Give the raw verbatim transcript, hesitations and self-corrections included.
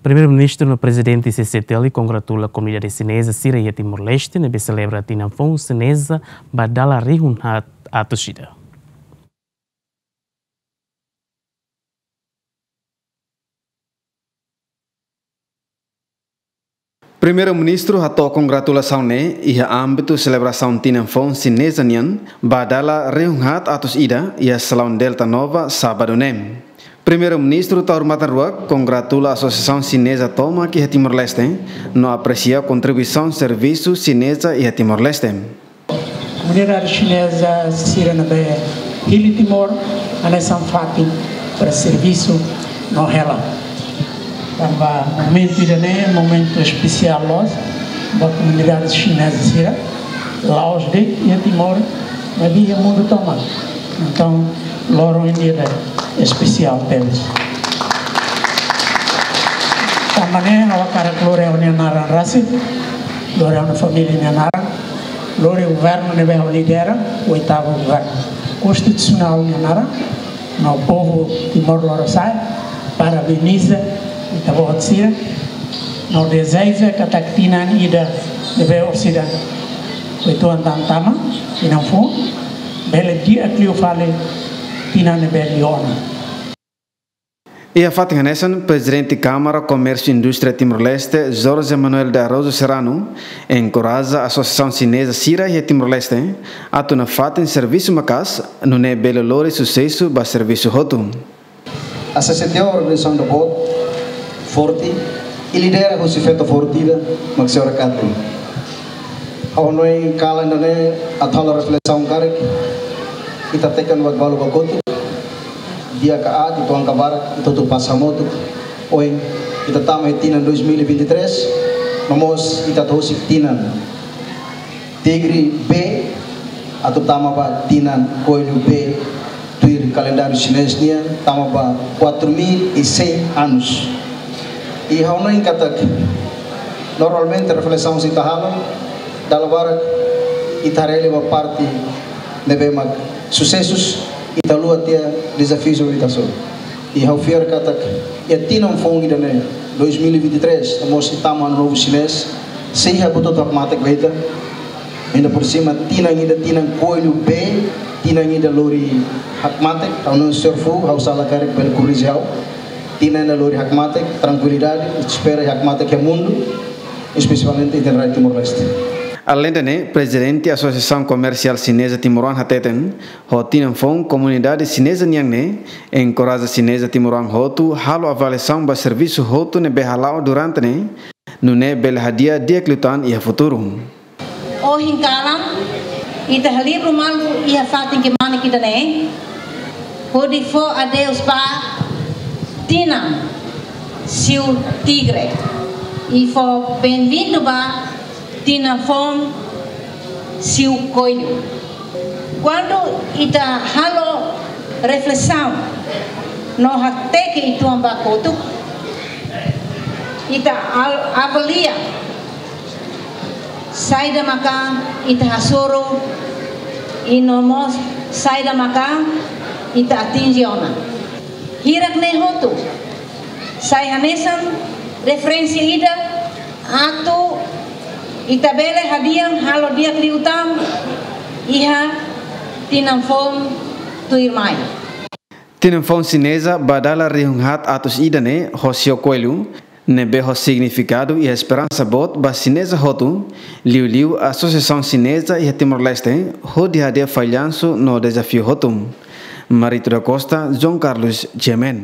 Primeiru-Ministru no Prezidente C C T L kongratula komunidade xineza sira iha Timor-Leste ne'ebé selebra tinan foun xineza ba dala rihun haat atus ida. Primeiru-Ministru hato'o kongratulasaun ne'e iha ámbitu selebrasaun tinan foun xineza nian ba dala rihun haat atus ida iha Salaun Delta Nova, sábadu ne'e. Primeiru-Ministru tau matan-ruak kongratula Asosiasaun Xineza tomak iha Timor-Leste, no apresia kontribuisaun servisu xineza iha Timor-Leste. Komunidade xineza sira ne'ebé hili Timor, hanesan fatin para servisu no hela. Tanba momentu ida-ne'e, momentu espesiál loos ba komunidade xineza sira, la'ós de'it iha Timor, maibé iha mundu tomak. Entaun, loron ida-ne'e espesiál tebes. Tanba ne'e, ha'u hakarak lori ha'u-nia naran rasik, lori ha'u-nia família nia naran, lori governu ne'ebé ha'u lidera, oitavu governu konstitusionál nia naran, no povu Timor Lorosa'e, parabeniza ita-boot sira, no dezeja katak tinan ida ne'ebé orsida uitoan tan tama, tinan foun, bele di'ak liu fali tinan ne'ebé liu ona. Iha fatin hanesan, Prezidente Kámara Komérsiu Indústria Timor-Leste, Jorge Manuel de Araújo Serrano, enkoraja Asosiasaun Xineza sira iha Timor-Leste atu nafatin servisu maka'as, nune'e bele lori susesu ba servisu hotu. A C C T organizasaun ida boot, forte, i lidera husi feto forte ida, mak Señora Katy. Ha'u hanoin kalan ida-ne'e atu halo reflesaun karik, ita tekan ba balu ba kotuk, di'ak ka aat, ita-boot barak, ita hotu pasa hamutuk. Ohin, ita tama iha tinan dois mil e vinte e três, no mós ita atu husik tinan Tigre B, atu tama ba tinan Koellu B, tuir kalendáriu xinés nian, tama ba quatro mil e cem anos. I ha'u hanoin katak, normalmente reflesaun sira ita halo, dala barak ita haree ba parte ne'ebé mak susesus, ita haluha tiha dezafiu ita hasoru. I ha'u fiar katak, iha tinan foun ida-ne'e, dois mil e vinte e três, no mós ita tama Ano Novo Xinés, sei iha buat hotu hakmatek ba ita, ainda por cima, tinan ida tinan Koellu B, tinan ida lori hakmatek, ha'u hanoin señór Fu, ha'u sala karik bele korrije ha'u, tinan ida lori hakmatek, trankuilidade, espera hakmatek iha mundu, espesialmente iha rai Timor-Leste. Aleinde ne'e, Prezidente Asosiasaun Komersiál Xineza Timoroan hateten, ho tinan foun komunidade xineza nian ne'e, enkoraja xineza timoroan hotu halo avaliasaun ba servisu hotu ne'ebé hala'o durante ne'e, nune'e bele hadi'a di'ak liután iha futuru. Ohin kalan, ita halibur malu iha fatin kmanek ida-ne'e, hodi fó adeus ba tinan Siu Tigre, i fó benvindu ba tinan foun Siu Koellu. Kuandu ita halo reflesaun no hateke uitoan ba kotuk, ita al-, avalia saida maka ita hasoru, i no mós saida maka ita atinje ona. Hirak-ne'e hotu sai hanesan referénsia ida atu ita bele hadi'a halo di'ak liután iha tinan foun tuirmai. Tinan foun xineza ba dala rihun haat atus ida ne'e, ho Siu Koellu, ne'ebé ho signifikadu i esperansa boot ba xineza hotu, liuliu Asosiasaun Xineza iha Timor-Leste, hodi hadi'a fallansu no dezafiu hotu. Marito da Costa, João Carlos, G M N.